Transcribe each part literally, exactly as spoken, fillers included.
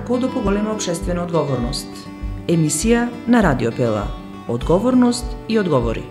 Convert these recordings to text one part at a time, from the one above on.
како до поголема општествена одговорност. Емисија на Радио Пела. Одговорност и одговори.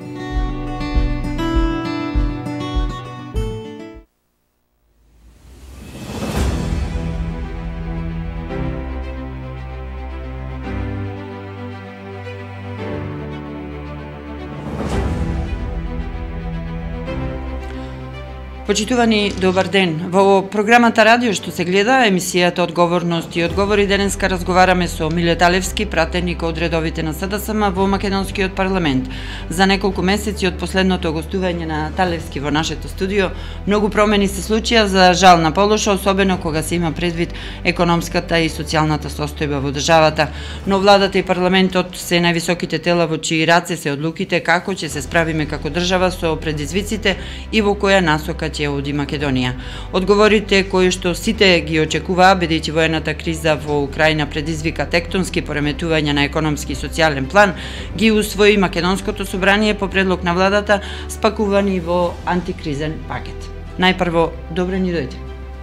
Почитувани, добар ден. Во програмата Радио што се гледа, емисијата Одговорност и одговори, денеска разговараме со Милет Алевски, пратеник од редовите на СДСМ во Македонскиот парламент. За неколку месеци од последното гостување на Талевски во нашето студио, многу промени се случија за жал на полоша, особено кога се има предвид економската и социјалната состојба во државата. Но владата и парламентот се највисоките тела во чии раце се одлуките како ќе се справиме како држава со предизвиците и во која насока ќе оди Македонија. Одговорите кои што сите ги очекуваа, бидејќи воената криза во Украина предизвика тектонски пореметувања на економски и социјален план, ги усвои Македонското собрание по предлог на владата, спакувани во антикризен пакет. Најпрво, добре ни дојде.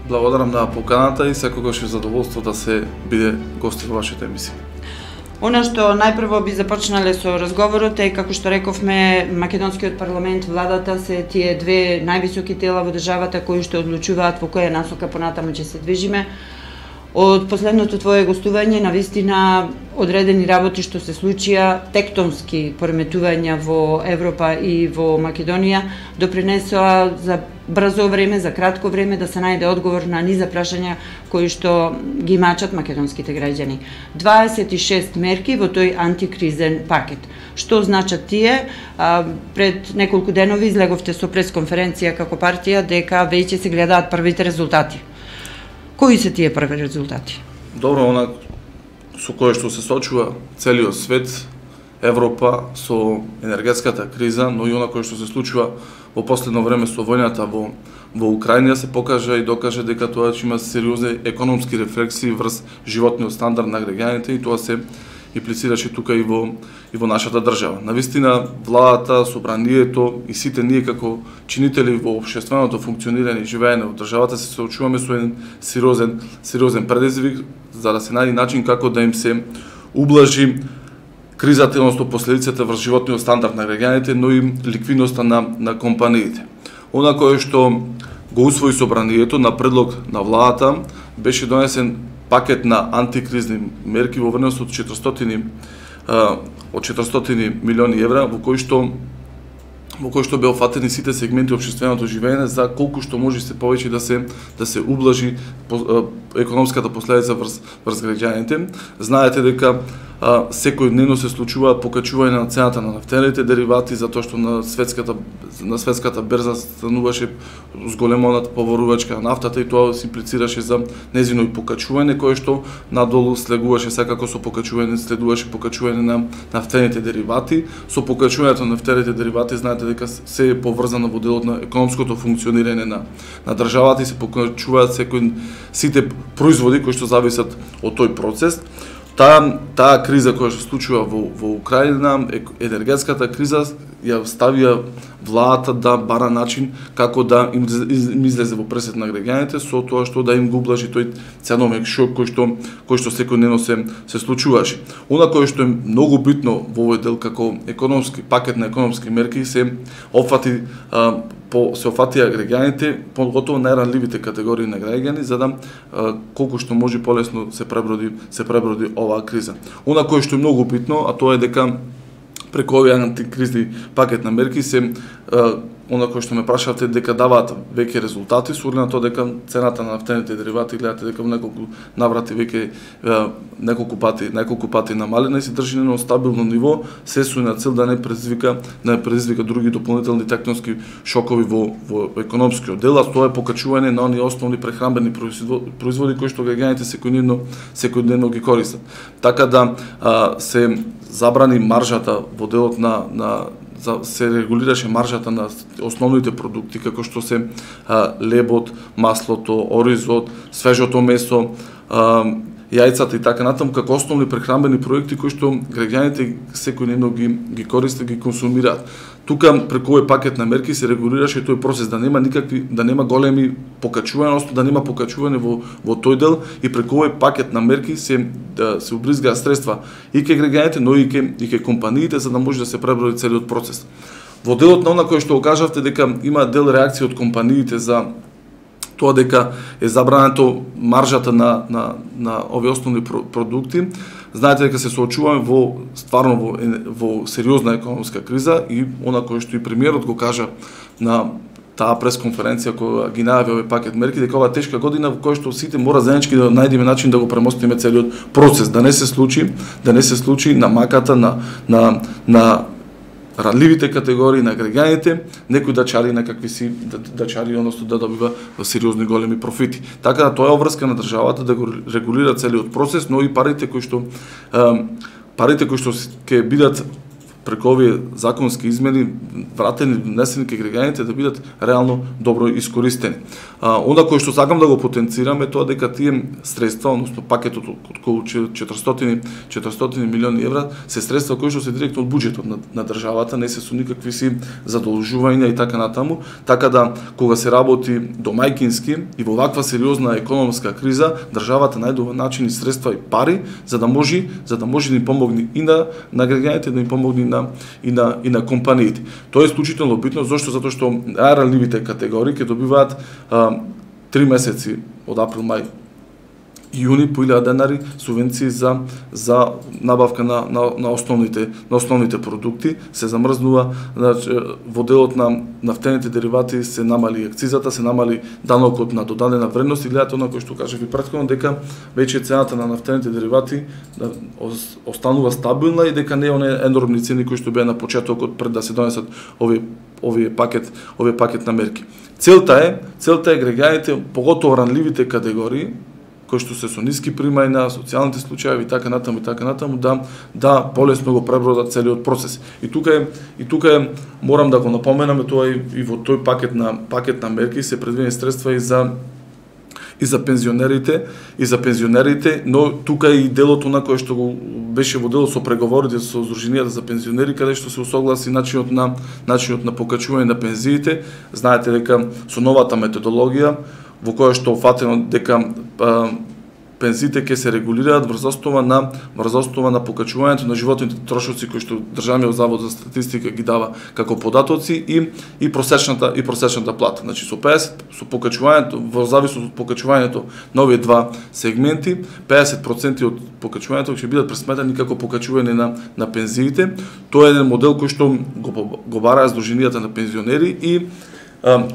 Благодарам на поканата и секогаш е задоволство да се биде гост во вашата емисија. Она што најпрво би започнале со разговорот е, како што рековме, Македонскиот парламент, владата се тие две највисоки тела во државата кои што одлучуваат во која насока понатаму ќе се движиме. Од последното твое гостување, навистина, одредени работи што се случија, тектонски пореметувања во Европа и во Македонија, допринесоа за брзо време, за кратко време да се најде одговор на низа прашања кои што ги мачат македонските граѓани. дваесет и шест мерки во тој антикризен пакет. Што значат тие? А, пред неколку денови излеговте со пресконференција како партија дека веќе се гледаат првите резултати. Кои се тие први резултати? Добро, она со кое што се сочува целиот свет, Европа, со енергетската криза, но и она кое што се случува во последно време со војната во, во Украина, се покажа и докаже дека тоа ќе има сериозни економски рефлексии врз животниот стандард на граѓаните и тоа се имплицираше тука и во и во нашата држава. Навистина, владата, собранието и сите ние како чинители во општественото функционирање и живеење во државата се соочуваме со еден сериозен сериозен предизвик за да се најде начин како да им се ублажи кризата, односно последиците врз животниот стандард на граѓаните, но и ликвидноста на на компаниите. Она кое што го усвои собранието на предлог на владата беше донесен пакет на антикризни мерки во вредност од четиристотини од четиристотини милиони евра, во кои што во кој што беа офатени сите сегменти општественото живеење за колку што може се повеќе да се да се ублажи економската последица врз врз граѓаните. Знаете дека а, секојдневно се случува покачување на цената на нафтените деривати затоа што на светската на светската берза стануваше зголемоната поварувачка на нафтата и тоа се имплицираше за нејзино покачување кое што надолу следуваше секако со покачување следуваше покачување на нафтените деривати. Со покачувањето на нафтените деривати знаете дека се е поврзано во делот на економското функционирање на на државата и се покачуваат секој сите производи кои што зависат од тој процес. Таа таа криза која се случува во во Украина, енергетската криза, ја ставија владата да бара начин како да им излезе во пресет на граѓаните со тоа што да им го ублажи тој ценовен шок кој што кој што секојдневно се се случуваше. Она кое што е многу битно во овој дел како економски пакет на економски мерки се опфати а, по се офатија граѓаните, поготово најранливите категории на граѓани, за да а, колку што може полесно се преброди се преброди оваа криза. Она кое што е многу битно, а тоа е дека преку овие антикризни пакет на мерки се а, она кое што ме прашавте дека даваат веќе резултати, со оглед на тоа дека цената на нафтените деривати гледате дека во неколку наврати веќе неколку пати неколку пати намалена и се држи на стабилно ниво, се со на цел да не предизвика да не предизвика други дополнителни тектонски шокови во во економскиот дел, а тоа е покачување на оние основни прехранбени производи кои што граѓаните секојдневно секојдневно ги користат. Така да а, се забрани маржата во делот на на за се регулираше маржата на основните продукти како што се а, лебот, маслото, оризот, свежото месо, а, јајцата и така натаму како основни прехранбени проекти кои што граѓаните секојдневно ги ги користат, ги консумираат. Тука преку овој пакет на мерки се регулираше тој процес да нема никакви да нема големи покачувања, одnosno да нема покачување во во тој дел и преку овој пакет на мерки се да се убризгаат средства и ке граѓаните, но и ке и ке компаниите за да може да се преброди целиот процес. Во делот на она кој што го кажавте дека има дел реакција од компаниите за тоа дека е забрането маржата на на на овие основни продукти. Знаете дека се соочуваме во стварно во, во сериозна економска криза и она кој што и премиерот го кажа на таа пресконференција која ги најави овој пакет мерки, дека ова тешка година во која што сите мора заеднички да најдеме начин да го премостиме целиот процес, да не се случи, да не се случи на маката на на на ранливите категории на граѓаните, некој да чари некакви си да, да чари, одnosno да добива сериозни големи профити. Така да тоа е обврска на државата да го регулира целиот процес, но и парите кои што парите кои што ќе бидат преку овие законски измени вратени, внесени кај граѓаните да бидат реално добро искористени. А, онда кој што сакам да го потенцираме тоа дека тие средства, односно пакетот од околу четиристотини милиони евра се средства кои што се директно од буџетот на, на државата, не се со никакви си задолжувања и така натаму, така да кога се работи домајкински и во ваква сериозна економска криза, државата најдува начин и средства и пари за да може за да може да им помогне и на на граѓаните, да им помогне на и на и на компаниите. Тоа е исклучително битно, зашто затоа што најранливите категории ќе добиваат а, три месеци од април, мај и јуни по илјада денари субвенции за за набавка на на на основните на основните продукти, се замрзнува, значи во делот на нафтените деривати се намали акцизата, се намали данокот на додадена вредност и гледате она кој што кажав и претходно дека веќе цената на нафтените деривати да останува стабилна и дека не е оние енормни цени кои што беа на почетокот пред да се донесат овие овие пакет овие пакет на мерки. Целта е целта е граѓаните, поготово ранливите категории кои што се со ниски примања на социјалните случаи и така натаму и така натаму да да полесно го пребродат целиот процес. И тука е и тука е морам да го напоменаме тоа и, и во тој пакет на пакет на мерки се предвидени средства и за и за пензионерите, и за пензионерите, но тука и делото на кое што го беше во дело со преговорите со Сдруженијата за пензионери, каде што се усогласи начинот на начинот на покачување на пензиите. Знаете дека со новата методологија во која што фатено дека а, пензиите ќе се регулираат врз основа на врз основа на покачувањето на животните трошоци кои што Државниот завод за статистика ги дава како податоци и и просечната и просечната плата. Значи со педесет со покачувањето во зависност од покачувањето на овие два сегменти, педесет проценти од покачувањето ќе бидат пресметани како покачување на на пензиите. Тоа е еден модел кој што го го бараа Сдруженијата на пензионери и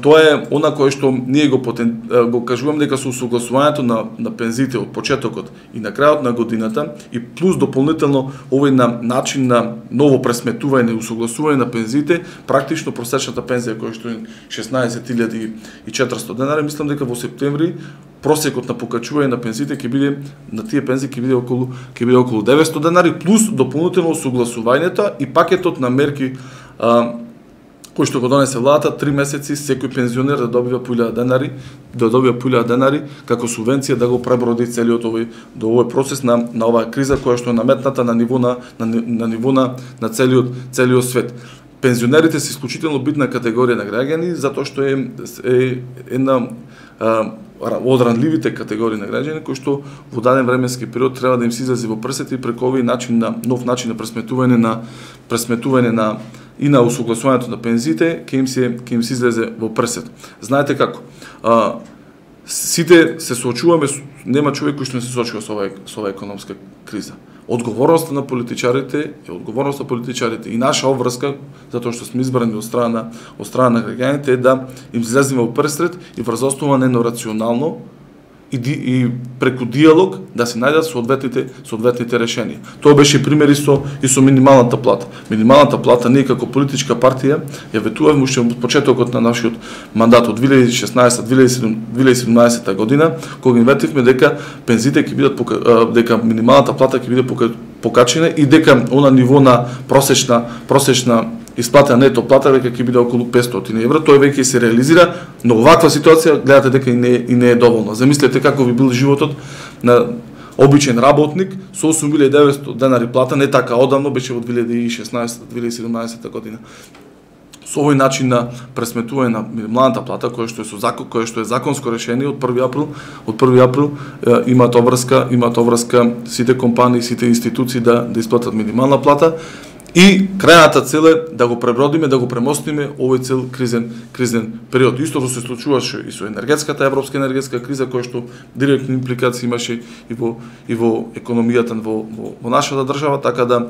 тоа е она кое што ние го потен, го кажуваме дека со усогласувањето на на пензиите од почетокот и на крајот на годината и плюс дополнително овој на начин на ново пресметување и усогласување на пензиите, практично просечната пензија која што е шеснаесет илјади и четиристотини денари, мислам дека во септември просекот на покачување на пензиите ќе биде на тие пензии ќе биде околу ќе биде околу деветстотини денари плюс дополнително усогласувањето и пакетот на мерки а, кој што го донесе владата, три месеци секој пензионер да добива по илјада денари, да добива по илјада денари како субвенција да го преброди целиот овој до овој процес на на оваа криза која што е наметната на ниво на на, на ниво на, на целиот целиот свет. Пензионерите се исклучително битна категорија на граѓани затоа што е е една од ранливите категории на граѓани кои што во даден временски период треба да им се излезе во прсет и преку овој начин на нов начин на пресметување на пресметување на и на усогласувањето на пензиите ќе им се ќе им се излезе во прсет. Знаете како? А, сите се соочуваме, нема човек кој што не се соочува со оваа со оваа економска криза. Одговорноста на политичарите е одговорноста на политичарите и наша обврска затоа што сме избрани од страна од страна на граѓаните е да им излеземе во прсет и врз основа на едно рационално и, и преку диалог да се најдат соодветните соодветните решенија. Тоа беше пример и со и со минималната плата. Минималната плата ние како политичка партија ја ветувавме уште од почетокот на нашиот мандат од две илјади и шеснаесета - две илјади и седумнаесета година, кога инветивме дека пензиите ќе бидат дека минималната плата ќе биде покачена и дека она ниво на просечна просечна исплата на нето плата веќе ќе биде околу петстотини евра, тоа веќе се реализира, но оваква ситуација гледате дека и не и не е доволна. Замислете како би бил животот на обичен работник со осум илјади и деветстотини денари плата, не така одамно, беше во две илјади и шеснаесета - две илјади и седумнаесета година. Со овој начин на пресметување на минималната плата, кој што е со закон, кој што е законско решение од први април, од први април е, имаат обврска, имаат обврска сите компании, сите институции да да исплатат минимална плата. И крајната цел е да го пребродиме, да го премостиме овој цел кризен кризен период. Исто што се случуваше и со енергетската европска енергетска криза, која што директни импликации имаше и во и во економијата во во, во нашата држава, така да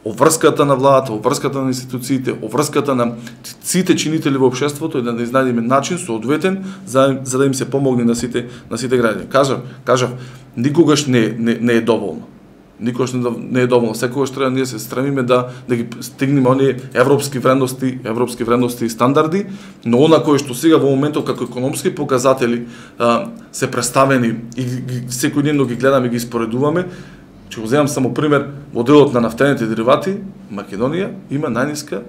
обврската на владата, обврската на институциите, обврската на сите чинители во општеството и да изнајдеме начин соодветен за за да им се помогне на сите на сите граѓани. Кажав, кажав, никогаш не не, не е доволно. Никогаш не е доволно. Секогаш треба ние се стремиме да да ги стигнеме оние европски вредности, европски вредности и стандарди, но она кое што сега во моментов како економски показатели а, се представени и ги, секојдневно ги гледаме и ги споредуваме. Ќе го земам само пример, во делот на нафтените деривати, Македонија има најниска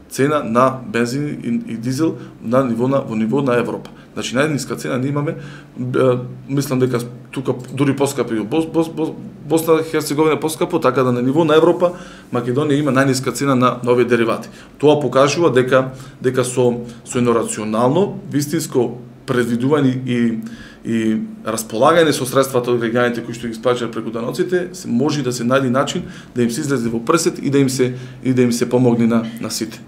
цена на бензин и, и дизел на ниво на во ниво на Европа. Значи најниска цена ние имаме, е, мислам дека тука дури поскапи Бос, Бос, Бос, Босна и Херцеговина поскапо, така да на ниво на Европа Македонија има најниска цена на нови деривати. Тоа покажува дека дека со со едно рационално, вистинско предвидување и и располагање со средствата од граѓаните кои што ги исплаќаат преку даноците, се може да се најде начин да им се излезе во пресет и да им се и да им се помогне на на сите.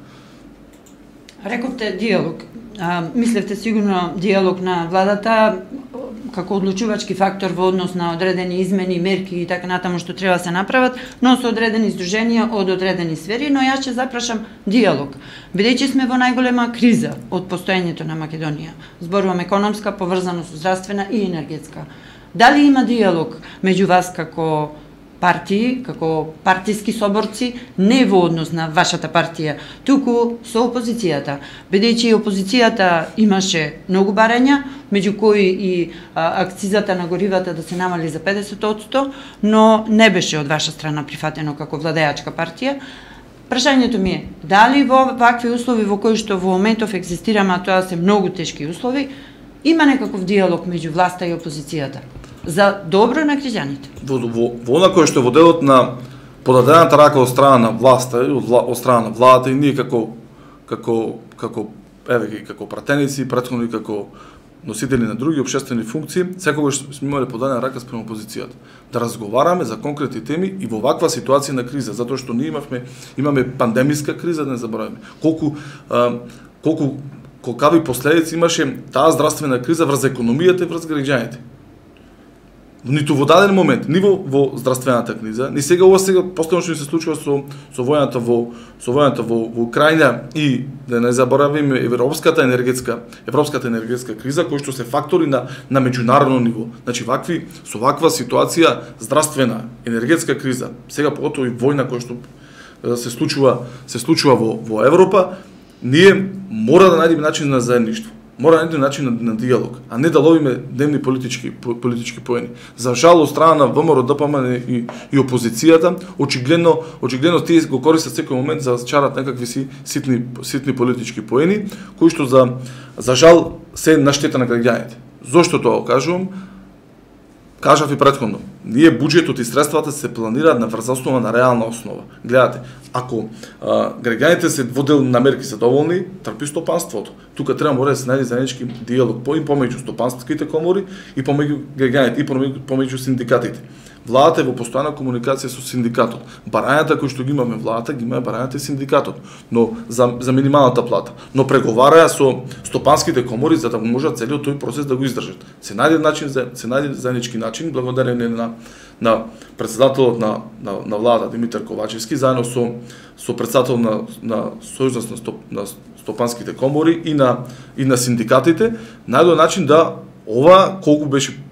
Рековте диалог. А, мислевте сигурно диалог на владата како одлучувачки фактор во однос на одредени измени, мерки и така натаму што треба да се направат, но со одредени здруженија од одредени сфери, но јас ќе запрашам диалог. Бидејќи сме во најголема криза од постоењето на Македонија, зборувам економска, поврзано со здравствена и енергетска. Дали има диалог меѓу вас како партии, како партиски соборци, не во однос на вашата партија, туку со опозицијата, бидејќи опозицијата имаше многу барања, меѓу кои и а, акцизата на горивата да се намали за педесет одсто, но не беше од ваша страна прифатено како владеачка партија. Прашањето ми е, дали во вакви услови во кои што во моментов екзистираме, а тоа се многу тешки услови, има некаков диалог меѓу власта и опозицијата за добро на граѓаните? Во, во, во она кое што во делот на подадената рака од страна на власта и од, од страна на владата и ние како како како еве ги како пратеници, претходно и како носители на други општествени функции, секогаш сме имале подадена рака спрема опозицијата. Да разговараме за конкретни теми и во ваква ситуација на криза, затоа што ние имавме имаме пандемиска криза, да не забораваме. Колку а, колку колкави последици имаше таа здравствена криза врз економијата и врз граѓаните. Ниту во даден момент, ни во, во здравствената криза, ни сега ова сега постојано што се случува со со војната во со војната во, во Украина и да не заборавиме европската енергетска европската енергетска криза кои што се фактори на на меѓународно ниво. Значи вакви со ваква ситуација здравствена, енергетска криза, сега поготово и војна која што се случува се случува во во Европа, ние мора да најдеме начин на заедништво. Мора да најдеме начин на, на диалог, а не да ловиме дневни политички политички поени. За жал од страна на ВМРО, ДПМН и, и опозицијата, очигледно очигледно тие го користат секој момент за да чарат некакви си ситни ситни политички поени, кои што за за жал се на штета на граѓаните. Зошто тоа кажувам? Кажав и претходно, ние буџетот и средствата се планираат на врз основа на реална основа. Гледате, ако а, граѓаните се во дел на мерки се доволни, трпи стопанството. Тука треба мора да се најде заеднички диалог по и помеѓу стопанските комори и помеѓу граѓаните и помеѓу, помеѓу синдикатите. Владата е во постојана комуникација со синдикатот. Барањата кои што ги имаме владата, ги имаме барањата и синдикатот, но за за минималната плата. Но преговараја со стопанските комори за да можат целиот тој процес да го издржат. Се најде начин за се најде заеднички начин благодарение на на председателот на на, на владата Димитар Ковачевски заедно со со председател на на Сојузот на, стоп, на стопанските комори и на и на синдикатите, најдоа начин да ова колку беше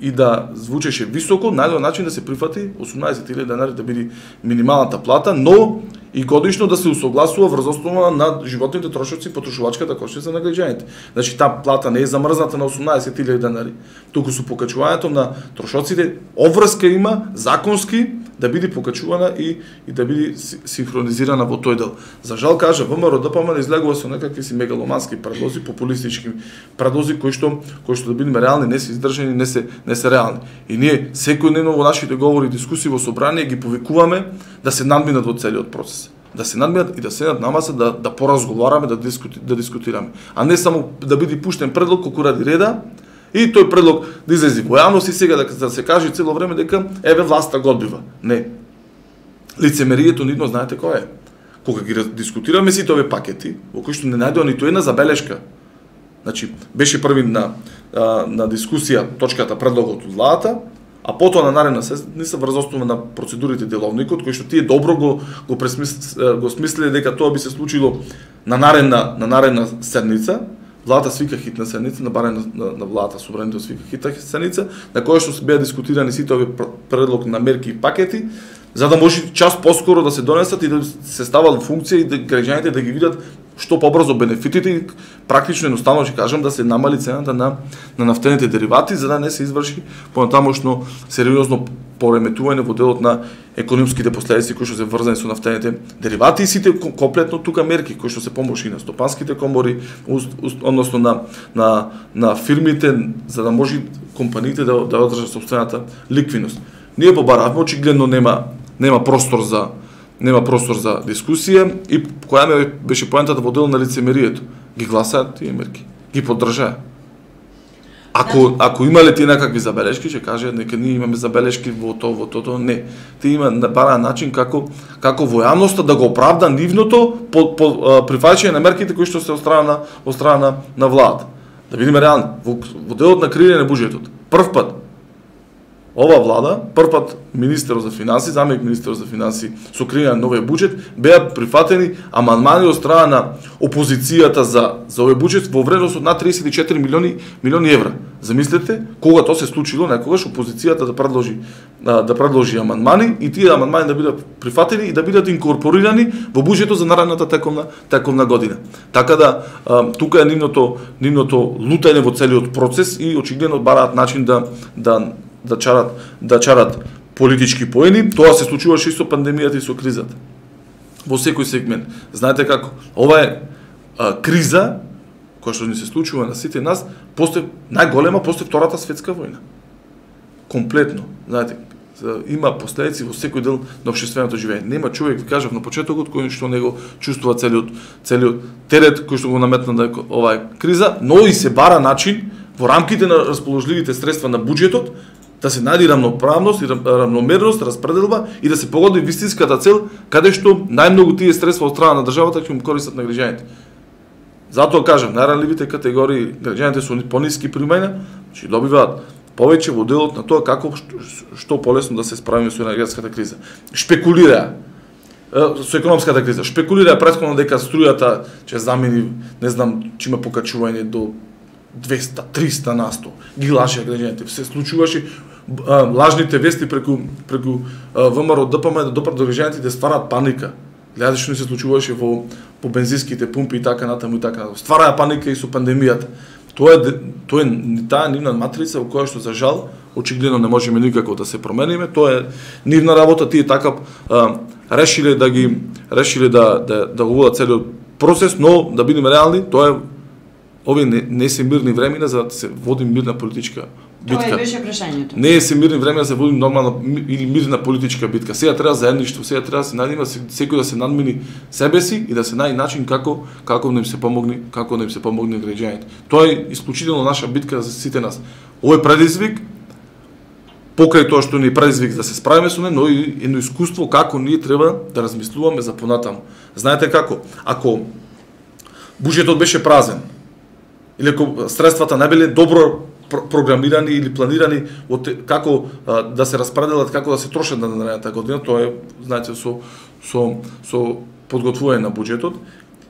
и да звучеше високо, најдоа начин да се прифати осумнаесет илјади денари да биде минималната плата, но и годишно да се усогласува врз основа на животните трошоци, потрошувачката кошница на граѓаните. Значи таа плата не е замрзната на осумнаесет илјади денари, туку со покачувањето на трошоците обврска има законски да биде покачувана и и да биде синхронизирана во тој дел. За жал кажа ВМРО ДПМН излегува со некакви си мегаломански предлози, популистички предлози кои што кои што да бидеме реални, не се издржани, не се не се реални. И ние секојдневно во нашите говори и дискусии во собрание ги повикуваме да се надминат во целиот процес. Да се надминат и да седнат на маса, да да поразговараме, да дискути, да дискутираме, а не само да биде пуштен предлог колку ради реда. И тој предлог да излезе во јавност и сега да, да се каже цело време дека еве власта го одбива. Не. Лицемерието нидно знаете кој е. Кога ги дискутираме сите овие пакети, во кои што не најдоа ниту една забелешка. Значи, беше први на на дискусија точката предлогот од владата, а потоа на наредна седница врз основа на процедурите деловникот, кои што тие добро го го пресмис, го смислиле дека тоа би се случило на наредна на наредна седница. Владата свика хитна седница, на барем на, на, на владата собранието свика хитна седница, на која што се беа дискутирани сите овие предлог на мерки и пакети, за да може час поскоро да се донесат и да се стават во функција и да граѓаните да ги видат што побрзо бенефитите и практично едноставно ќе кажам да се намали цената на на нафтените деривати за да не се изврши понатамошно сериозно пореметување во делот на економските последици кои што се врзани со нафтените деривати и сите комплетно тука мерки кои што се помоши на стопанските комори, односно на на на фирмите за да може компаниите да да одржат сопствената ликвидност. Ние побаравме, очигледно нема нема простор за нема простор за дискусија и која ме беше поентата во дел на лицемерието. Ги гласаат тие мерки, ги поддржаа. Ако ако имале тие некакви забелешки, ќе каже нека ние имаме забелешки во тоа во тоа, не. Тие има на бара начин како како во јавноста да го оправда нивното по, по прифаќање на мерките кои што се од страна на од страна на, на владата. Да бидеме реални, во, во делот на креирање на буџетот. Прв пат ова влада, првпат министерот за финансии, заместник министерот за финансии со креирање на новиот буџет беа прифатени амандмани од страна на опозицијата за за овој буџет во вредност од над триесет и четири милиони милиони евра. Замислете кога тоа се случило, некогаш опозицијата да предложи да предложи амандмани и тие амандмани да бидат прифатени и да бидат инкорпорирани во буџетот за наредната тековна тековна година. Така да тука е нивното нивното лутање во целиот процес и очигледно бараат начин да да да чарат да чарат политички поени. Тоа се случуваше и со пандемијата и со кризата. Во секој сегмент. Знаете како? Ова е а, криза која што ни се случува на сите нас после најголема после Втората светска војна. Комплетно. Знаете, има последици во секој дел на општественото живење. Нема човек, ви кажав на почетокот, кој што него чувствува целиот целиот терет кој што го наметна да оваа криза, но и се бара начин во рамките на расположливите средства на буџетот да се најде рамноправност и рамномерност, распределба и да се погоди вистинската цел каде што најмногу тие средства од страна на државата ќе му користат на граѓаните. Затоа кажам, најранливите категории граѓаните со пониски примања, че добиваат повеќе во делот на тоа како што, што полесно да се справиме со енергетската криза. Шпекулираа со економската криза. Шпекулираа претходно дека струјата ќе замени, не знам, ќе има покачување до двеста триста на сто. Ги лажеа граѓаните. Се случуваше а, лажните вести преку преку ВМРО ДПМ да допрат до граѓаните да стварат паника. Гледате што не се случуваше во по бензинските пумпи и така натаму и така натаму. Ствараа паника и со пандемијата. Тоа е тоа е таа нивна матрица во која што за жал очигледно не можеме никако да се промениме. Тоа е нивна работа, тие така а, решиле да ги решиле да да да го водат целиот процес, но да бидеме реални, тоа е овие не, не се мирни времена за да се води мирна политичка битка. Тоа беше прашањето. Не се мирни времена за да се води нормална или мирна политичка битка. Сега треба заедништво, сега треба да се најдеме секој да се надмини себе си и да се најде начин како како да им се помогне, како да им се помогне граѓаните. Тоа е исклучително наша битка за сите нас. Овој предизвик покрај тоа што ни предизвик да се справиме со него, но и едно искуство како ние треба да размислуваме за понатаму. Знаете како? Ако буџетот беше празен, или ако средствата не биле добро програмирани или планирани од како а, да се распределат, како да се трошат на наредната година, тоа е, знаете, со со со подготвување на буџетот.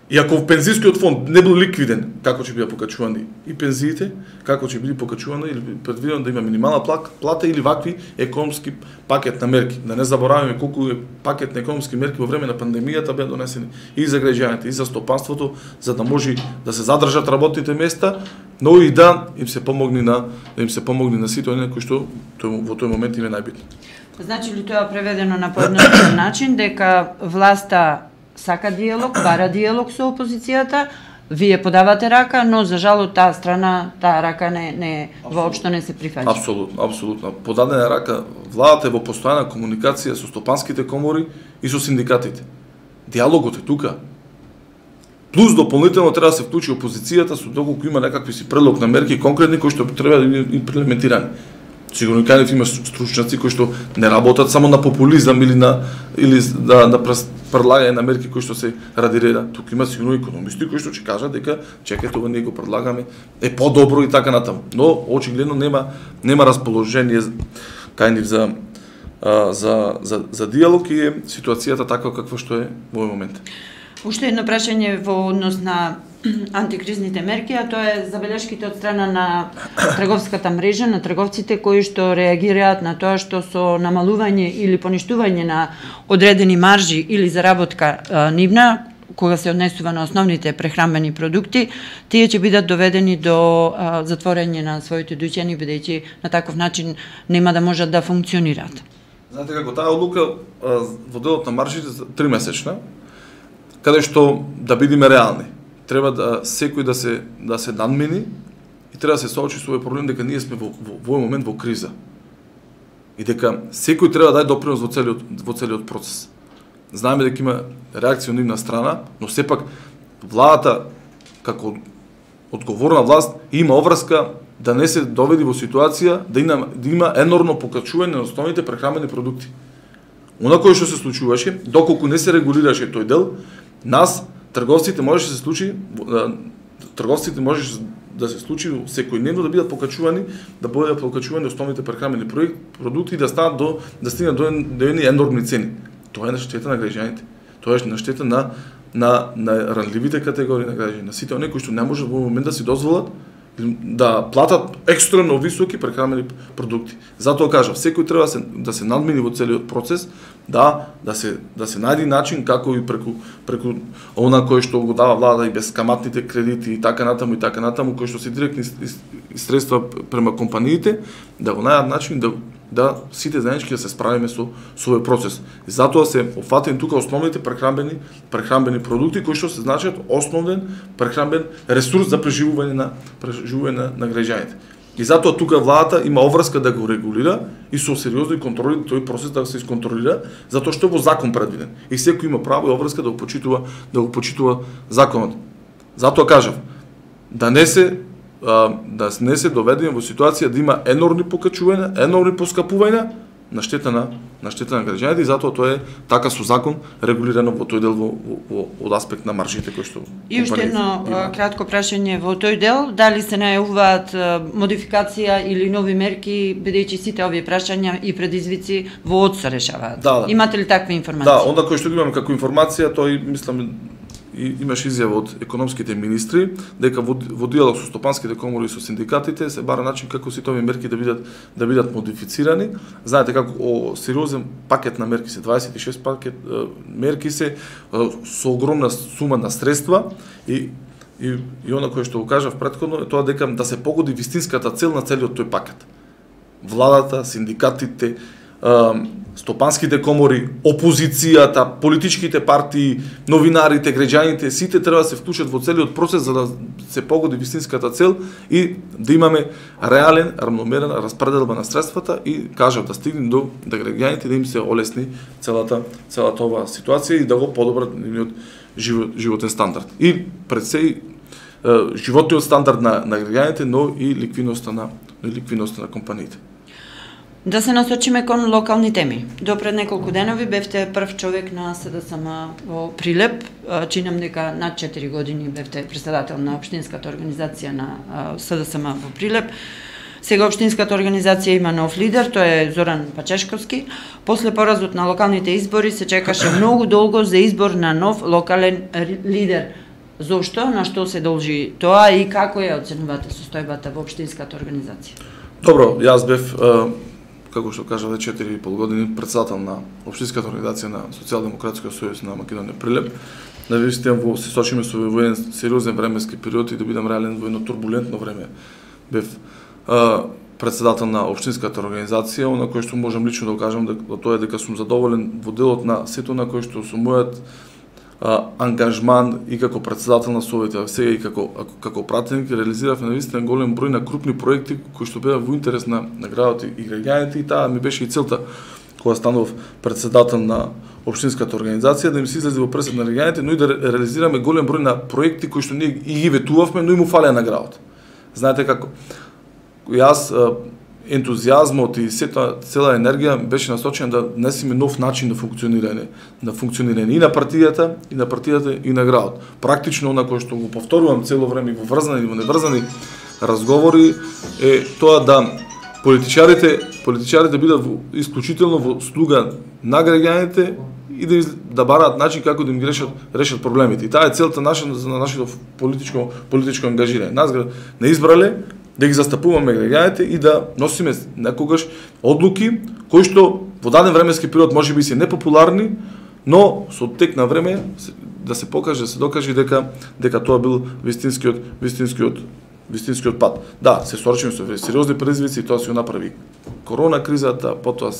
И ако пензискиот фонд не бил ликвиден, како ќе бидат покачувани и пензиите, како ќе биде покачувано или предвидено да има минимална плата или вакви економски пакет на мерки. Да не забораваме колку е пакет на економски мерки во време на пандемијата беа донесени и за граѓаните, и за стопанството, за да може да се задржат работните места, но и да им се помогне на да им се помогне на сите оние кои што во тој момент им е најбитно. Значи ли тоа преведено на поедноставен начин дека власта сака диалог, бара диалог со опозицијата, вие подавате рака, но за жал од таа страна таа рака не не воопшто не се прифаќа. Апсолутно, апсолутно. Подадена рака, владата е во постојана комуникација со стопанските комори и со синдикатите. Диалогот е тука. Плюс дополнително треба да се вклучи опозицијата со доколку има некакви си предлог на мерки конкретни кои што треба да бидат имплементирани. Сигурно и кај има стручњаци кои што не работат само на популизам или на или да на предлагање на мерки кои што се ради реда. Тука има сигурно економисти кои што ќе кажат дека чекајте, ова ние го предлагаме, е подобро и така натаму. Но очигледно нема нема расположение кај нив за а, за за за диалог и е ситуацијата таква каква што е во овој момент. Уште едно прашање во однос на антикризните мерки, а тоа е забелешките од страна на трговската мрежа, на трговците кои што реагираат на тоа што со намалување или поништување на одредени маржи или заработка а, нивна, кога се однесува на основните прехранбени продукти, тие ќе бидат доведени до а, затворање на своите дуќани, бидејќи на таков начин нема да можат да функционираат. Знаете како таа одлука а, во делот на маржите тримесечна, каде што да бидеме реални. Треба да секој да се да се надмени и треба да се соочи со овој проблем дека ние сме во во овој момент во криза. И дека секој треба да даде допринос во целиот во целиот процес. Знаеме дека има реакција од нивна страна, но сепак владата како одговорна власт има обврска да не се доведи во ситуација да има да има енормно покачување на основните прехранбени продукти. Она кое што се случуваше, доколку не се регулираше тој дел, нас трговците можеше да се случи, трговците можеше да се случи секојдневно да бидат покачувани, да бидат покачувани основните прехранбени продукти и да станат до да стигнат до, до едни енормни цени. Тоа е на штета на граѓаните. Тоа е на штета на на на ранливите категории на граѓани, на сите оние кои што не можат во момент да си дозволат да платат екстремно високи прехранбени продукти. Затоа кажав, секој треба да се да се надмени во целиот процес, да да се да се најде начин како и преку преку она кој што го дава влада и безкаматните кредити и така натаму и така натаму кои што се директни средства према компаниите, да го најдат начин да да сите заеднички да се справиме со со овој процес. И затоа се опфатени тука основните прехранбени прехранбени продукти кои што се значат основен прехранбен ресурс за преживување на преживување на, на граѓаните. И затоа тука владата има обврска да го регулира и со сериозни контроли тој процес да се исконтролира, затоа што е во закон предвиден. И секој има право и обврска да го почитува да го почитува законот. Затоа кажав, да не се да не се доведеме во ситуација да има енормни покачувања, енормни поскапувања на штета на на штета на граѓаните и затоа тоа е така со закон регулирано во тој дел во, во, во од аспект на маржите кои што и уште едно кратко прашање во тој дел, дали се најавуваат модификација или нови мерки, бидејќи сите овие прашања и предизвици во ОД се решаваат. Да, да. Имате ли такви информации? Да, онда кој што имаме како информација, тој мислам и имаше изјава од економските министри дека во, во диалог со стопанските комори и со синдикатите се бара начин како сите овие мерки да бидат да бидат модифицирани. Знаете како о, сериозен пакет на мерки се дваесет и шест пакет мерки се со огромна сума на средства и и и она кое што го кажав претходно е тоа дека да се погоди вистинската цел на целиот тој пакет. Владата, синдикатите, стопанските комори, опозицијата, политичките партии, новинарите, граѓаните, сите треба да се вклучат во целиот процес за да се погоди вистинската цел и да имаме реален, равномерна распределба на средствата и кажав да стигнем до да граѓаните да им се олесни целата целата оваа ситуација и да го подобрат нивниот живот, животен стандард. И пред се животниот стандард на на граѓаните, но и ликвидноста на ликвидноста на компаниите. Да се насочиме кон локални теми. До пред неколку денови бевте прв човек на СДСМ во Прилеп. Чинам дека над четири години бевте председател на општинската организација на СДСМ во Прилеп. Сега општинската организација има нов лидер, тоа е Зоран Пачешковски. После поразот на локалните избори се чекаше многу долго за избор на нов локален лидер. Зошто, на што се должи тоа и како ја оценувате состојбата во општинската организација? Добро, јас бев како што кажа веќе четири и пол години председател на општинската организација на Социјалдемократскиот сојуз на Македонија Прилеп. Навистина во се сочиме со во еден сериозен временски период и да бидам реален во едно турбулентно време. Бев а, председател на општинската организација, на кој што можам лично да кажам дека тоа е дека сум задоволен во делот на сето на кој што со мојот а, ангажман и како председател на Советот, сега и како како пратеник реализиравме навистина голем број на крупни проекти кои што беа во интерес на, на градот и граѓаните, и таа ми беше и целта кога станав председател на општинската организација, да им се излезе во пресед на граѓаните, но и да реализираме голем број на проекти кои што ние и ги ветувавме, но и му фалеа на градот. Знаете како јас ентузијазмот и сета цела енергија беше насочена да несеме нов начин на функционирање, на функционирање и на партијата, и на партијата и на градот. Практично она кое што го повторувам цело време во врзани и во неврзани разговори е тоа да политичарите, политичарите бидат исклучително во слуга на граѓаните и да, да бараат начин како да им решат, решат проблемите. И таа е целта наша на нашето политичко политичко ангажирање. Нас не избрале да ги застапуваме граѓаните и да носиме некогаш одлуки кои што во даден временски период можеби се непопуларни, но со тек на време да се покаже, да се докаже дека дека тоа бил вистинскиот вистинскиот вистинскиот пат. Да, се соочиме со сериозни предизвици и тоа се направи корона кризата, потоа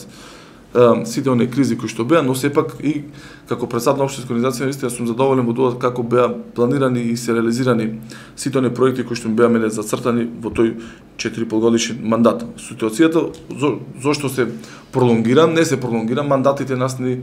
сите оние кризи кои што беа, но сепак и како председател на општинска организација наистина сум задоволен во тоа како беа планирани и се реализирани сите оние проекти кои што беа мене зацртани во тој четири и пол годишен мандат. Ситуацијата зо, зошто се пролонгира, не се пролонгира, мандатите нас ни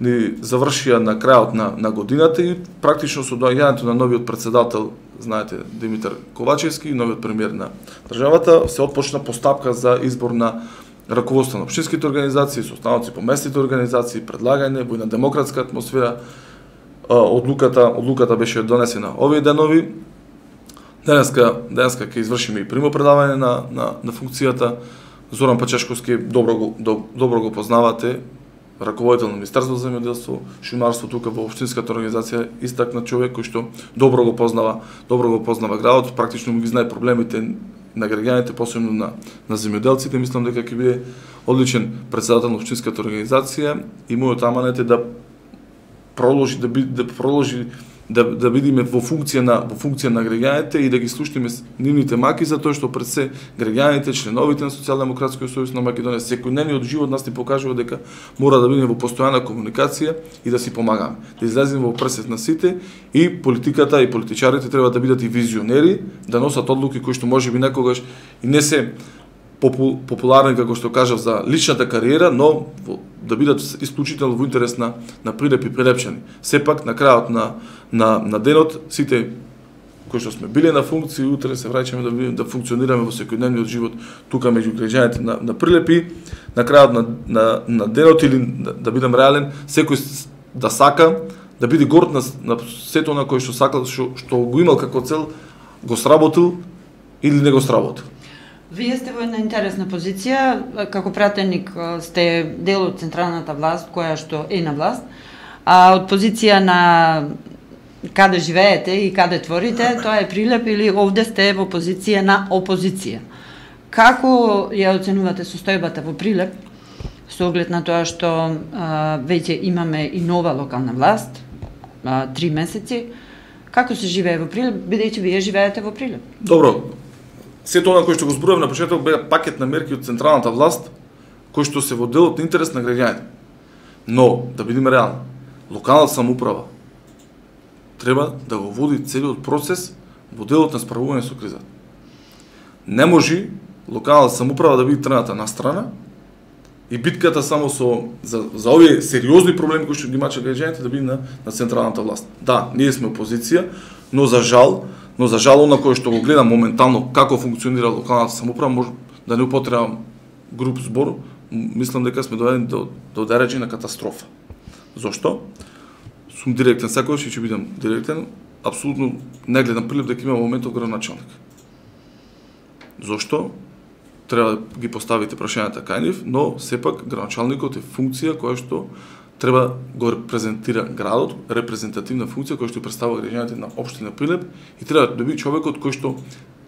ни завршија на крајот на на годината и практично со доаѓањето на новиот председател, знаете, Димитар Ковачевски, новиот премиер на државата, се отпочна постапка за избор на раководство на општинските организации, состаноци по местните организации, предлагање во една демократска атмосфера. Одлуката, одлуката беше донесена овие денови. Денеска, денеска ќе извршиме и примопредавање на, на, на функцијата. Зоран Пачешковски добро го, до, добро го познавате, раководител на Министерството за земјоделство, шумарство тука во општинската организација, истакнат човек кој што добро го познава, добро го познава градот, практично му ги знае проблемите на граѓаните, посебно на на земјоделците. Мислам дека ќе биде одличен председател на општинската организација и мојот аманет е да продолжи да би, да продолжи да да бидеме во функција на во функција на граѓаните и да ги слушнеме нивните маки, затоа што пред се граѓаните, членовите на Социјалдемократскиот сојуз на Македонија, секојдневниот живот нас ни покажува дека мора да бидеме во постојана комуникација и да си помагаме, да излеземе во пресет на сите, и политиката и политичарите треба да бидат и визионери, да носат одлуки кои што можеби некогаш и не се попу, популарни, како што кажав, за личната кариера, но да бидат исклучително во интерес на на Прилеп и прилепчани. Сепак на крајот на на на денот сите кои што сме биле на функции, утре се враќаме да бидеме да функционираме во секојдневниот живот тука меѓу граѓаните на на Прилеп, и на крајот на на на денот, или да, да бидам реален, секој да сака да биде горд на, на сето на кој што сакал, што, што го имал како цел, го сработил или не го сработил. Вие сте во една интересна позиција, како пратеник сте дел од централната власт, која што е на власт, а од позиција на каде живеете и каде творите, тоа е Прилеп, или овде сте во позиција на опозиција. Како ја оценувате состојбата во Прилеп, со оглед на тоа што а, веќе имаме и нова локална власт, а, три месеци, како се живее во Прилеп, бидејќи вие живеете во Прилеп? Добро. Сето она кој што го зборував на почеток беа пакет на мерки од централната власт, кои што се во делот на интерес на граѓаните. Но, да бидеме реални, локалната самоуправа треба да го води целиот процес во делот на справување со кризата. Не може локалната самоуправа да биде трената на страна и битката само со за, за овие сериозни проблеми кои што ги мачат граѓаните да биде на, на централната власт. Да, ние сме опозиција, но за жал Но за жал, на кој што го гледам моментално како функционира локалната самоуправа, може да не употребам груб збор, мислам дека сме доведени до, до дереđи на катастрофа. Зошто? Сум директен, секојаш и ќе бидам директен, апсолутно не гледам Прилеп дека има моментов градоначалник. Зошто? Треба да ги поставите прашањата кај нив, но сепак градоначалникот е функција која што треба го репрезентира градот, репрезентативна функција која што представува граѓаните на општина Прилеп, и треба да биде човекот кој што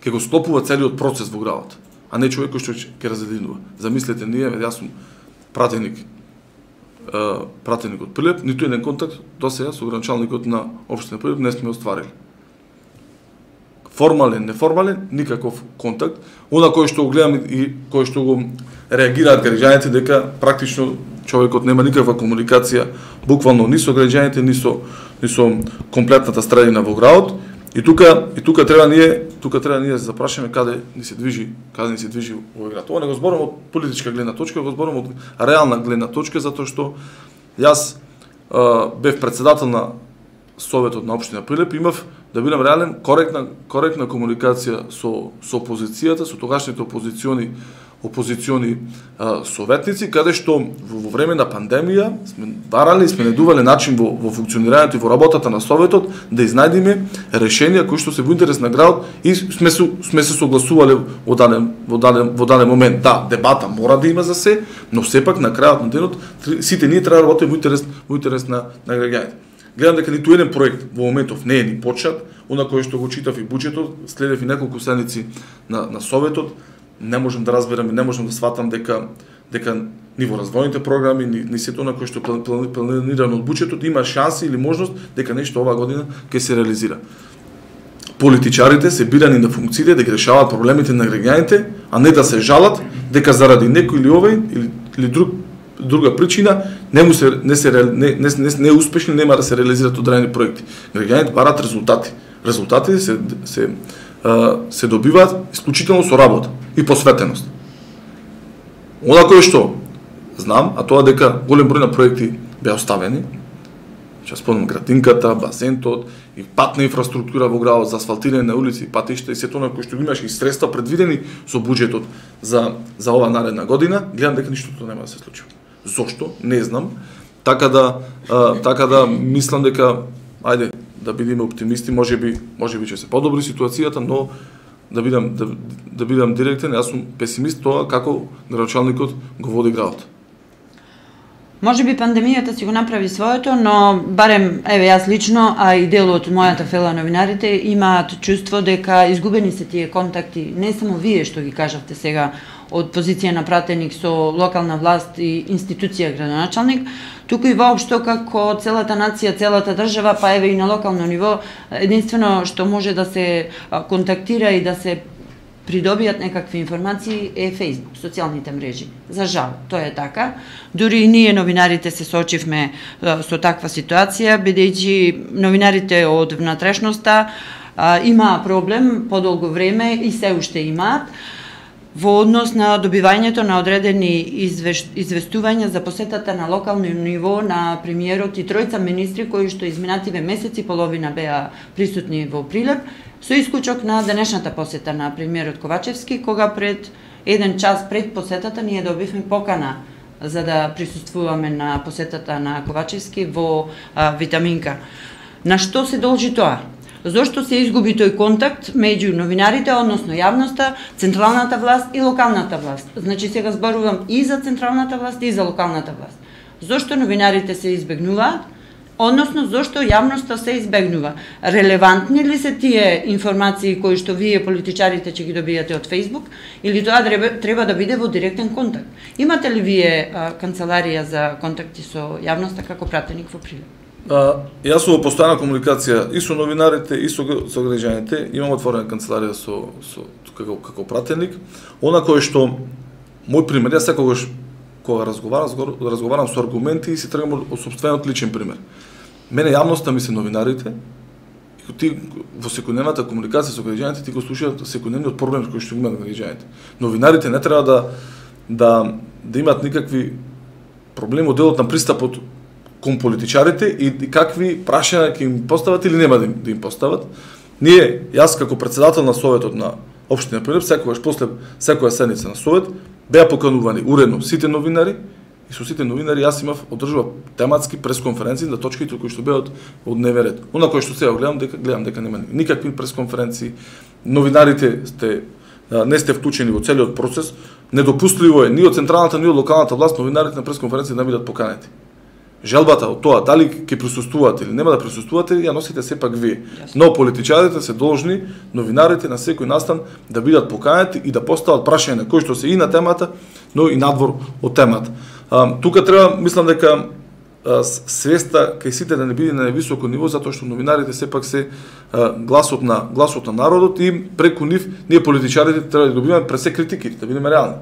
ќе го склопува целиот процес во градот, а не човек кој што ќе разединува. Замислете, ние, јас сум пратеник, е, пратеник од Прилеп, ниту еден контакт до сега со градоначалникот на општина Прилеп не сме остварили. формален, неформален, никаков контакт. Она кој што го гледам и кој што го реагираат граѓаните дека практично човекот нема никаква комуникација буквално ни со граѓаните, ни со ни со комплетната средина во градот. И тука и тука треба ние, тука треба ние да се запрашаме каде ни се движи, каде ни се движи овој град. Ова не го зборам од политичка гледна точка, го зборам од реална гледна точка, затоа што јас а, бев председател на Советот на општина Прилеп, имав да бидам реален коректна коректна комуникација со со опозицијата, со тогашните опозициони опозициони а, советници, каде што во, во време на пандемија сме барали, сме најдувале начин во, во функционирањето и во работата на Советот да изнајдеме решенија кои што се во интерес на градот и сме се, сме се согласувале во даден, во, даден, во даден момент. Да, дебата мора да има за се, но сепак на крајот на денот сите ние треба да работиме во интерес, во интерес на, на граѓаните. Гледам дека ниту еден проект во моментов не е ни почнат, она кој што го читав и буџетот, следев и неколку седмици на, на Советот, не можам да разберам и не можам да сватам дека дека ни во развојните програми, ни, ни сето на кој што планирано од буџетот има шанси или можност дека нешто оваа година ќе се реализира. Политичарите се бирани на функциите да ги решаваат проблемите на граѓаните, а не да се жалат дека заради некој или овој или, или друг друга причина не му се не се не не, не, не успешни, нема да се реализираат одредени проекти. Граѓаните бараат резултати. Резултатите се се се добиваат исклучително со работа и посветеност. Она кое што знам, а тоа дека голем број на проекти беа оставени, ќе спомнам градинката, базентот и патна инфраструктура во градот, за асфалтирање на улици, патишта и сето на кои што имаше и средства предвидени со буџетот за за оваа наредна година, гледам дека ништото нема да се случи. Зошто? Не знам. Така да а, така да мислам дека ајде да бидеме оптимисти, можеби можеби ќе се подобри ситуацијата, но да бидам да, да бидам директен, јас сум песимист тоа како градоначалникот го води градот. Може би пандемијата си го направи своето, но барем, еве јас лично, а и дел од мојата фела новинарите имаат чувство дека изгубени се тие контакти, не само вие што ги кажавте сега од позиција на пратеник со локална власт и институција градоначалник, туку и воопшто како целата нација, целата држава, па еве и на локално ниво, единствено што може да се контактира и да се придобијат некакви информации е Facebook, социјалните мрежи. За жал, тоа е така. Дури и ние новинарите се соочивме со таква ситуација, бидејќи новинарите од внатрешноста има проблем подолго време и се уште имаат во однос на добивањето на одредени извеш... известувања за посетата на локално ниво на премиерот и тројца министри кои што изминативе месеци половина беа присутни во Прилеп, со исклучок на денешната посета на премиерот Ковачевски, кога пред еден час пред посетата ние добивме покана за да присуствуваме на посетата на Ковачевски во а, Витаминка. На што се должи тоа? Зошто се изгуби тој контакт меѓу новинарите, односно јавноста, централната власт и локалната власт? Значи сега зборувам и за централната власт и за локалната власт. Зошто новинарите се избегнуваат? Односно, зошто јавноста се избегнува? Релевантни ли се тие информации кои што вие политичарите ќе ги добијате од Facebook, или тоа треба да биде во директен контакт? Имате ли вие а, канцеларија за контакти со јавноста како пратеник во Прилеп? А, јас сум во постојана комуникација и со новинарите и со, со граѓаните, имам отворена канцеларија со, со како, како пратеник. Она кое што мој пример, јас секогаш кога разговарам, разговарам со аргументи и си тргам од сопствениот личен пример. Мене јавноста ми се новинарите, и ти во секојдневната комуникација со граѓаните ти го слушаат секојдневниот проблем кој што имаат граѓаните. Новинарите не треба да да да имаат никакви проблеми од делот на пристапот кон политичарите и, и какви прашања ќе им постават или нема да им, да им постават. Ние, јас како председател на Советот на општина Прилеп, секогаш после секоја седница на Совет, беа поканувани уредно сите новинари и со сите новинари јас имав одржував тематски пресконференции на точките кои што беа од, од дневен ред. Она кој што сега гледам дека гледам дека нема никакви пресконференции. Новинарите сте не сте вклучени во целиот процес. Недопустливо е ни од централната ни од локалната власт новинарите на пресконференции да бидат поканети. Желбата од тоа дали ќе присуствувате или нема да присуствувате ја носите сепак вие. Но политичарите се должни, новинарите на секој настан да бидат поканети и да постават прашања кои што се и на темата, но и надвор од темата. А, тука треба, мислам дека свеста кај сите да не биде на високо ниво, затоа што новинарите сепак се гласот на гласот на народот и преку нив ние политичарите треба да добиваме пред се критики, да бидеме реални.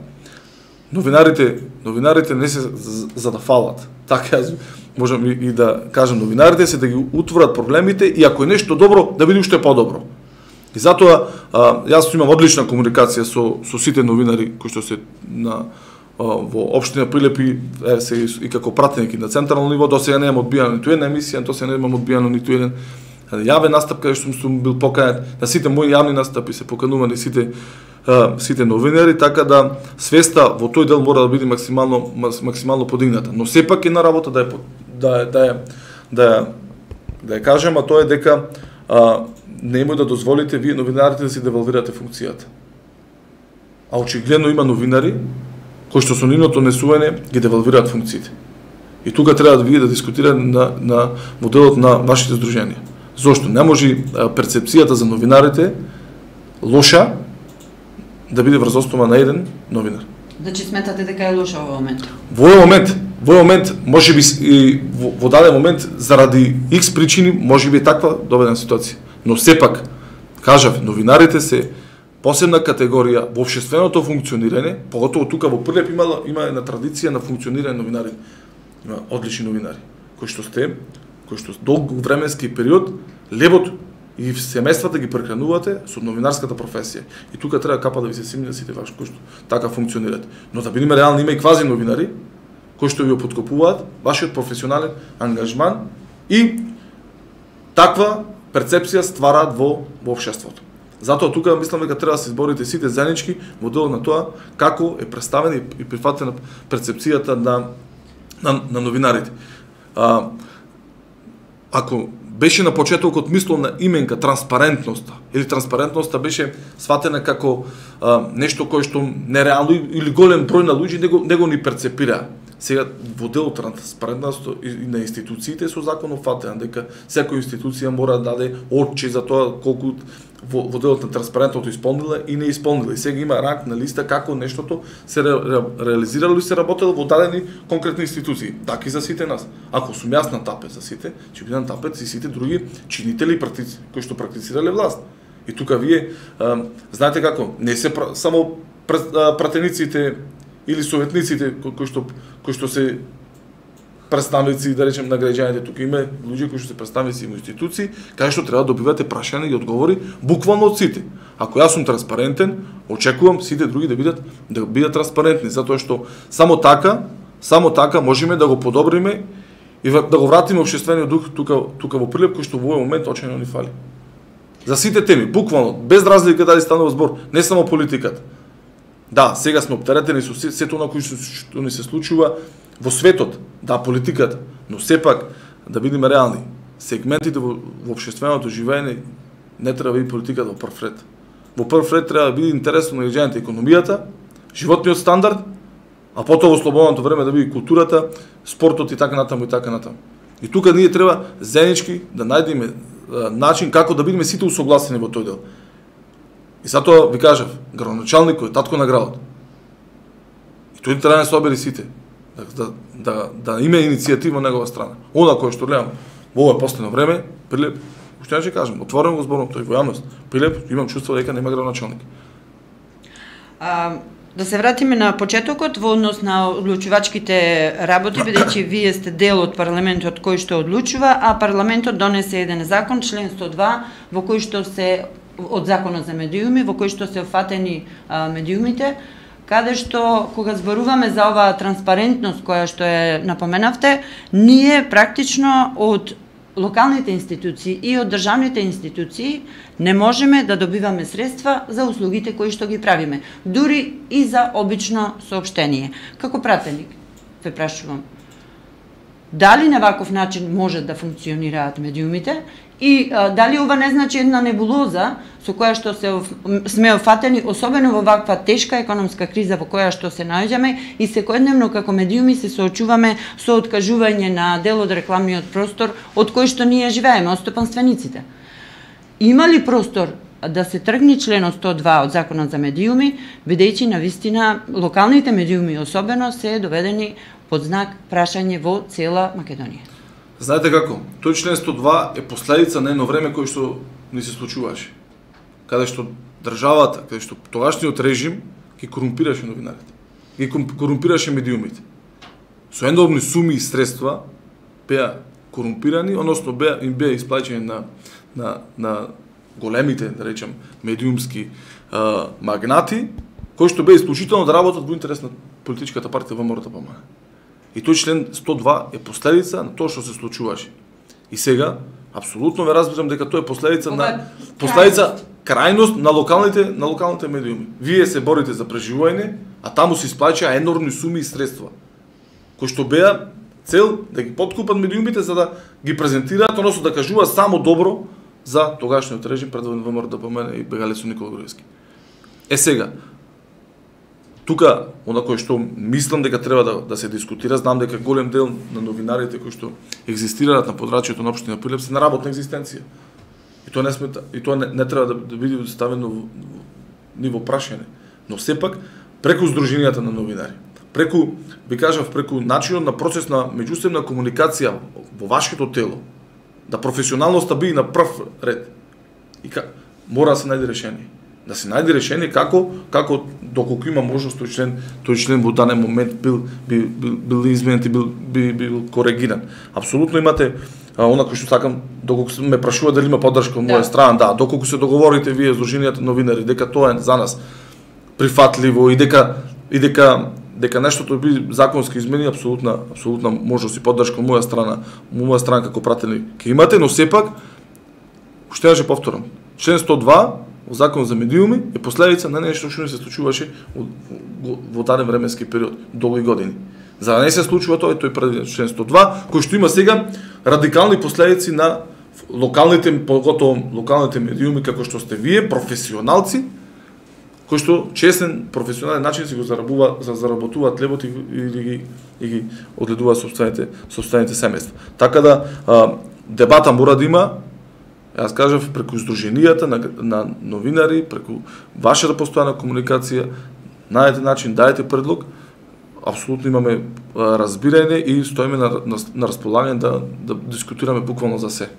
Новинарите, новинарите не се за да фалат. Така јас можам и да кажам, новинарите се да ги утворат проблемите и ако е нешто добро, да биде уште подобро. И затоа а, јас имам одлична комуникација со со сите новинари кои што се на а, во општина Прилепи, е, се и, и како пратеник на централно ниво, досега не имам одбијано ниту една емисија, досега не имам одбијано ниту еден јавен настап каде што сум бил поканет, на сите мои јавни настапи се поканувани сите а, сите новинари, така да свеста во тој дел мора да биде максимално максимално подигната. Но сепак една работа да е да да е да да ја кажем, а тоа е дека а, немој да дозволите вие новинарите да си девалвирате функцијата. А очигледно има новинари кои што со нивното несување ги девалвираат функциите. И тука треба да вие да дискутирате на на моделот на вашите здруженија. Зошто не може перцепцијата за новинарите лоша да биде врз основа на еден новинар? Значи сметате дека е лоша во момент? Во овој момент, во овој момент можеби и во, во даден момент заради X причини можеби е таква доведена ситуација. Но сепак, кажав, новинарите се посебна категорија во општественото функционирање, поготово тука во Прилеп има има една традиција на функционирање новинари. Има одлични новинари кои што сте, кои што долг временски период лебот и семејствата ги прехранувате со новинарската професија. И тука треба капа да ви се симни да сите ваши кои што така функционирате. Но да бидеме реални, има и квази новинари кои што ви подкопуваат вашиот професионален ангажман и таква перцепција ствараат во во општеството. Затоа тука мислам дека треба да се изборите сите заеднички во делот на тоа како е представена и прифатена перцепцијата на на, на новинарите. А, ако беше на почетокот мисловна именка транспарентноста, или транспарентноста беше сватена како а, нешто кое што нереално или голем број на луѓе него, него ни перцепира. Сега во делот транспарентноста и на институциите со законов фатен дека секоја институција мора да даде отче за тоа колку во, во делот на транспарентното исполнила и не исполнила. И сега има ранг на листа како нештото се ре, ре, реализирало и се работело во дадени конкретни институции. Така и за сите нас. Ако сум јас на тапет за сите, ќе бидам тапет и сите други чинители и практици кои што практицирале власт. И тука вие а, знаете како, не се пр, само пр, а, пратениците или советниците кои што кои што се представници, да речем, на граѓаните, тука има луѓе кои што се представници во институции, каде што треба да добивате прашања и одговори буквално од сите. Ако јас сум транспарентен, очекувам сите други да бидат да бидат транспарентни, затоа што само така, само така можеме да го подобриме и да го вратиме општествениот дух тука тука во Прилеп кој што во овој момент очигледно ни фали. За сите теми, буквално, без разлика дали станува збор, не само политиката. Да, сега сме оптеретени со сето на кои што ни се случува во светот, да, политиката, но сепак да бидеме реални. Сегментите во, во општественото живење не треба да биде политиката во прв ред. Во прв ред треба да биде интересно на граѓаните економијата, животниот стандард, а потоа во слободното време да биде културата, спортот и така натаму и така натаму. И тука ние треба заеднички да најдеме начин како да бидеме сите усогласени во тој дел. И затоа ви кажав, градоначалникот е татко на градот. И тој треба да се обери сите. Да, да, да има иницијатива на негова страна. Она кој што гледам во ова последно време, Прилеп, уште ќе кажам, отворено го зборам тој во јавност. Прилеп, имам чувство дека нема градоначалник. А, да се вратиме на почетокот во однос на одлучувачките работи, бидејќи вие сте дел од парламентот кој што одлучува, а парламентот донесе еден закон, член сто два, во кој што се од законот за медиуми, во кој што се офатени а, медиумите, каде што, кога зборуваме за оваа транспарентност која што е напоменавте, ние практично од локалните институции и од државните институции не можеме да добиваме средства за услугите кои што ги правиме, дури и за обично соопштение. Како пратеник, ве прашувам, дали на ваков начин може да функционираат медиумите и а, дали ова не значи една небулоза со која што се сме офатени, особено во ваква тешка економска криза во која што се наоѓаме и секојдневно како медиуми се соочуваме со откажување на дел од рекламниот простор од кој што ние живееме, од стопанствениците. Има ли простор да се тргне членот сто два од Законот за медиуми, бидејќи навистина локалните медиуми особено се доведени под знак прашање во цела Македонија. Знаете како? Тој член сто два е последица на едно време кој што ни се случуваше. Каде што државата, каде што тогашниот режим ги корумпираше новинарите, ги корумпираше медиумите. Со ендобни суми и средства беа корумпирани, односно беа им беа исплаќани на на на големите, да речем, медиумски а, магнати, кои што беа исклучително да работат во интерес на политичката партија ВМРО-ДПМН. И тој член сто два е последица на тоа што се случуваше. И сега апсолутно ве разбирам дека тоа е последица Ова, на последица крајност на локалните на локалните медиуми. Вие се борите за преживување, а таму се исплаќаа енормни суми и средства кои што беа цел да ги подкупат медиумите за да ги презентираат, односно да кажуваат само добро за тогашниот режим пред ВМРО-ДПМН и бегалецот Никола Груевски. Е сега, тука, она кој што мислам дека треба да, да се дискутира, знам дека голем дел на новинарите кои што екзистираат на подрачјето на општина Прилеп се на работна екзистенција. И тоа не смета, и тоа не, не треба да, да биде ставено во ниво прашање, но сепак преку здруженијата на новинари, преку, би кажав, преку начинот на процес на меѓусебна комуникација во вашето тело, да професионалноста биде на прв ред. И ка, мора да се најде решение. Да се најде решение како како доколку има можност тој член, тој член во даден момент бил бил бил, бил изменет и бил бил, бил коригиран. Апсолутно имате а, она кој што сакам, доколку ме прашува дали има поддршка од моја да. страна, да, доколку се договорите вие здруженијата новинари дека тоа е за нас прифатливо и дека и дека дека нештото би законски измени, апсолутна апсолутна можност и поддршка од моја страна, моја страна како пратеник ќе имате, но сепак уште еднаш повторам. Член сто два во Закон за медиуми е последица на нешто што не се случуваше во, во даден временски период, долги години. За да не се случува тоа, тој предвиден член сто два, кој што има сега радикални последици на локалните, поготово локалните медиуми како што сте вие, професионалци, кои што честен професионален начин си го зарабува, за заработуваат лебот и, и, и, ги, и ги одледуваат сопствените сопствените семејства. Така да а, дебата мора да има, јас кажав, преку здруженијата на, на новинари, преку вашата постојана комуникација, најдете начин, дајте предлог, апсолутно имаме а, разбирање и стоиме на, на, на располагање да, да дискутираме буквално за се.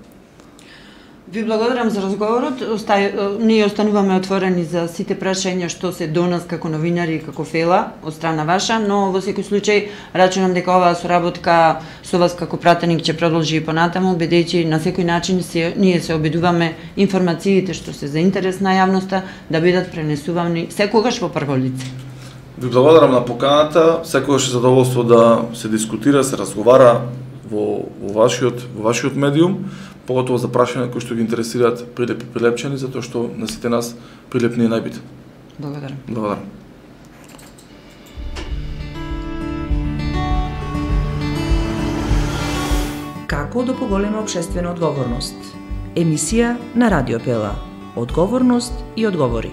Ви благодарам за разговорот. Остај, ние остануваме отворени за сите прашања што се до нас како новинари и како фела од страна ваша, но во секој случај рачунам дека оваа соработка со вас како пратеник ќе продолжи и понатаму, бидејќи на секој начин се, ние се обидуваме информациите што се за интерес на јавноста да бидат пренесувани секогаш во прво лице. Ви благодарам на поканата, секогаш е задоволство да се дискутира, се разговара во, во вашиот во вашиот медиум, поготово за прашања кои што ги интересираат Прилеп и прилепчани, затоа што на сите нас Прилеп ни е најбитен. Благодарам. Благодарам. Како да поголеме општествена одговорност? Емисија на Радио Пела. Одговорност и одговори.